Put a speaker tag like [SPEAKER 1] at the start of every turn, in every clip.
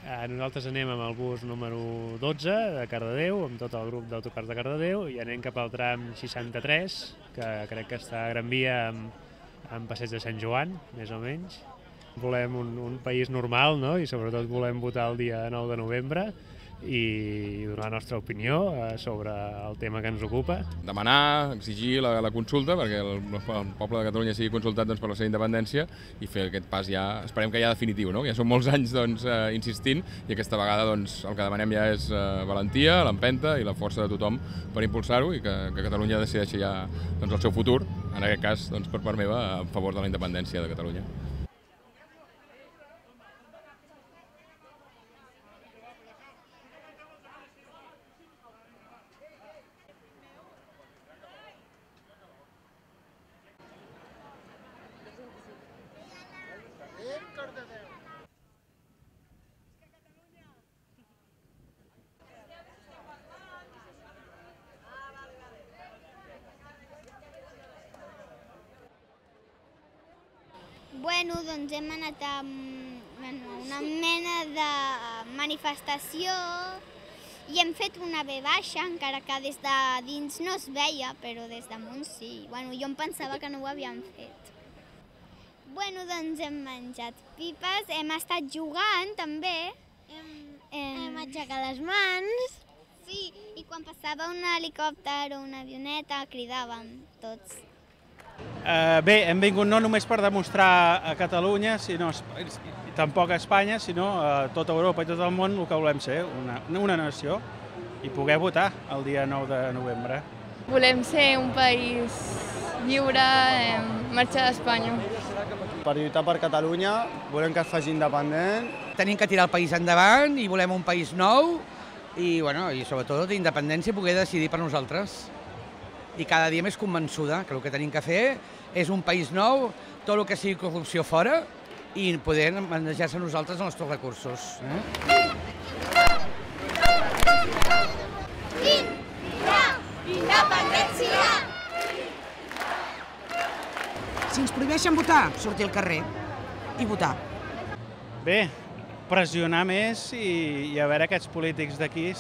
[SPEAKER 1] Nosaltres anem amb el bus número 12 de Cardedeu, amb tot el grup d'autocars de Cardedeu, i anem cap al tram 63, que crec que està a Gran Via amb Passeig de Sant Joan, més o menys. Volem un país normal, no? I sobretot volem votar el dia 9 de novembre i donar la nostra opinió sobre el tema que ens ocupa.
[SPEAKER 2] Demanar, exigir la consulta perquè el poble de Catalunya sigui consultat per la seva independència i fer aquest pas ja, esperem que ja definitiu, no? Ja són molts anys insistint i aquesta vegada el que demanem ja és valentia, l'empenta i la força de tothom per impulsar-ho i que Catalunya decideixi ja el seu futur, en aquest cas per part meva, a favor de la independència de Catalunya.
[SPEAKER 3] Bueno, doncs hem anat a una mena de manifestació i hem fet una V baixa, encara que des de dins no es veia, però des damunt sí. Bueno, jo em pensava que no ho havíem fet. Bueno, doncs hem menjat pipes, hem estat jugant també. Hem aixecat les mans. Sí, i quan passava un helicòpter o una avioneta cridàvem tots.
[SPEAKER 4] Bé, hem vingut no només per demostrar a Catalunya, tampoc a Espanya, sinó a tota Europa i tot el món el que volem ser, una nació, i poder votar el dia 9 de novembre.
[SPEAKER 5] Volem ser un país lliure, marxar d'Espanya.
[SPEAKER 6] Per lluitar per Catalunya, volem que es faci independent.
[SPEAKER 7] Tenim que tirar el país endavant i volem un país nou i sobretot d'independència i poder decidir per nosaltres. I cada dia més convençuda que el que tenim que fer és un país nou, tot el que sigui corrupció fora i poder manejar-se nosaltres els nostres recursos.
[SPEAKER 3] Independència!
[SPEAKER 8] Si ens prohibeixen votar, sortir al carrer i votar.
[SPEAKER 4] Bé, pressionar més i a veure aquests polítics d'aquí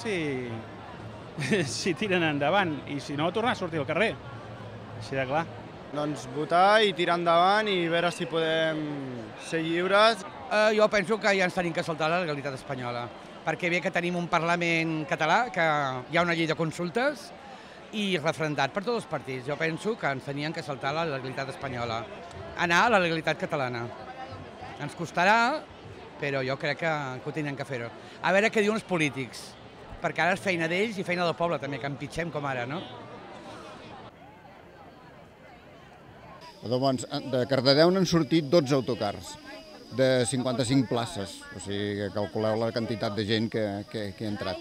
[SPEAKER 4] si tiren endavant i si no, tornar a sortir al carrer, així de clar.
[SPEAKER 6] Doncs votar i tirar endavant i veure si podem ser lliures.
[SPEAKER 7] Jo penso que ja ens tenim que saltar la legalitat espanyola, perquè bé que tenim un Parlament català, que hi ha una llei de consultes i referendat per tots els partits. Jo penso que ens tenien que saltar la legalitat espanyola, anar a la legalitat catalana. Ens costarà, però jo crec que ho tindrem que fer-ho. A veure què diuen els polítics, perquè ara és feina d'ells i feina del poble també, que empitgem com ara, no?
[SPEAKER 9] Doncs de Cardedeu n'han sortit 12 autocars de 55 places, o sigui que calculeu la quantitat de gent que ha entrat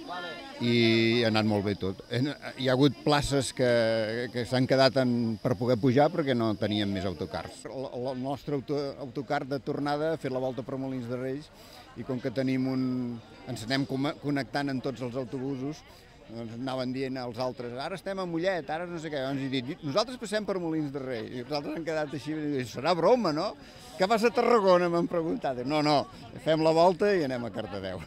[SPEAKER 9] i ha anat molt bé tot. Hi ha hagut places que s'han quedat per poder pujar perquè no teníem més autocars. El nostre autocar de tornada ha fet la volta per Molins de Reis i com que ens anem connectant en tots els autobusos, doncs anaven dient als altres, ara estem a Mollet, ara no sé què, doncs he dit, nosaltres passem per Molins de Rei, i nosaltres han quedat així, i serà broma, no? Què vas a Tarragona, m'han preguntat. No, fem la volta i anem a Cardedeu.